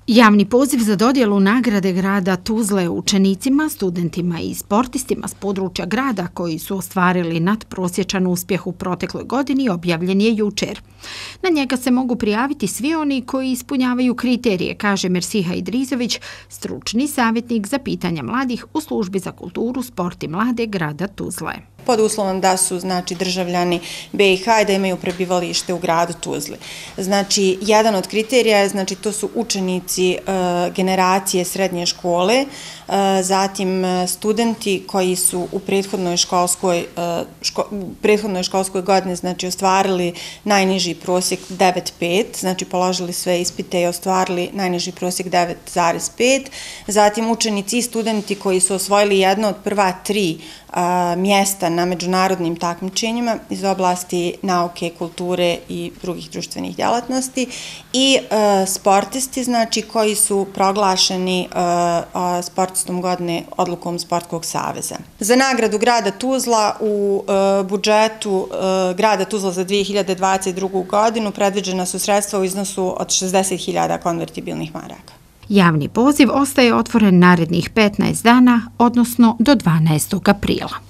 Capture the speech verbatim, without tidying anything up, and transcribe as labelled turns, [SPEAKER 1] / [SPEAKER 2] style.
[SPEAKER 1] Javni poziv za dodjelu nagrade grada Tuzle učenicima, studentima i sportistima s područja grada koji su ostvarili nadprosječan uspjeh u protekloj godini objavljen je jučer. Na njega se mogu prijaviti svi oni koji ispunjavaju kriterije, kaže Mersiha Idrizović, stručni savjetnik za pitanja mladih u službi za kulturu, sport i mlade grada Tuzle.
[SPEAKER 2] Pod uslovom da su znači državljani be i ha i da imaju prebivalište u gradu Tuzli. Znači, jedan od kriterija je, znači, to su učenici e, generacije srednje škole, e, zatim studenti koji su u prethodnoj školskoj, e, ško, u prethodnoj školskoj godini, znači, ostvarili najniži prosjek devet zarez pet, znači, položili sve ispite i ostvarili najniži prosjek devet zarez pet, zatim učenici i studenti koji su osvojili jedno od prva tri a, mjesta na međunarodnim takmičenjima iz oblasti nauke, kulture i drugih društvenih djelatnosti i a, sportisti, znači, koji su proglašeni a, a, sportistom godine odlukom Sportskog saveza. Za nagradu grada Tuzla u a, budžetu a, grada Tuzla za dvije hiljade dvadeset drugu godinu predviđena su sredstva u iznosu od šezdeset hiljada konvertibilnih maraka.
[SPEAKER 1] Javni poziv ostaje otvoren narednih petnaest dana, odnosno do dvanaestog aprila.